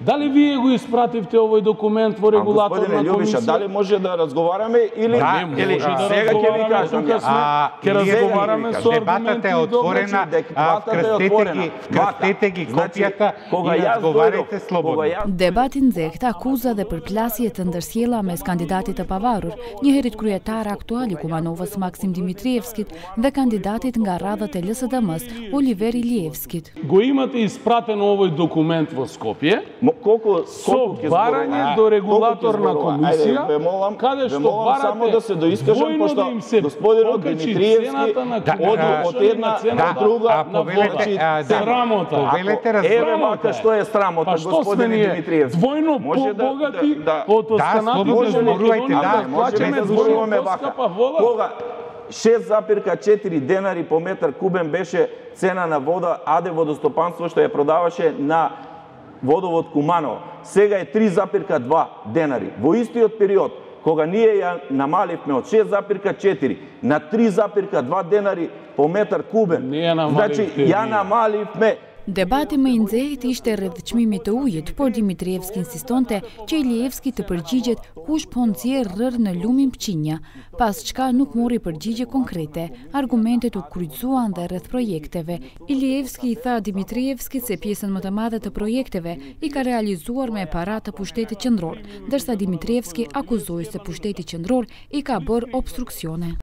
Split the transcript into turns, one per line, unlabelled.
Дали вие го испративте овој документ во регулаторна комисија?
Љубиша, дали може да разговараме или
сега ќе ви кажам ќе разговараме со аргументи.
Дебатата е отворена, вкрстете ги копијата и разговарате слободно.
Debatin nxehtë akuza dhe përplasje të ndërsjella mes kandidatit të pavarur, njëherit kryetar aktual i Kumanovës Maksim Dimitrievskit dhe kandidatit nga radhët e LSDM-s Oliver Ilievskit.
Го имате испратен овој документ во Скопје со барање до регулаторна комисија, каде што барате војно да им се покачи цената на од една на друга на вода. Срамота.
Еве вака што е срамота, господине Димитриевски.
Двојно побогати од останатите во Македонија, плаќаме двојно поскапа вода.
6,4 денари по метар кубен беше цена на вода АД водостопанство што ја продаваше на водовод Куманово. Сега е 3,2 денари. Во истиот период, кога ние ја намаливме од 6,4 на 3,2 денари по метар кубен, значи ја намаливме.
Debati më i nxehtë ishte rreth çmimit të ujit, por Dimitrievski insistonte që Ilievski të përgjigjet kush po nxjerr rrër në lumin Pqinja, pas çka nuk mori përgjigje konkrete. Argumentet u kryqëzuan dhe rreth projekteve. Ilievski i tha Dimitrievskit se pjesën më të madhe të projekteve i ka realizuar me para të pushtetit qendror, ndërsa Dimitrievski akuzoi se pushteti qendror i ka bërë obstruksione.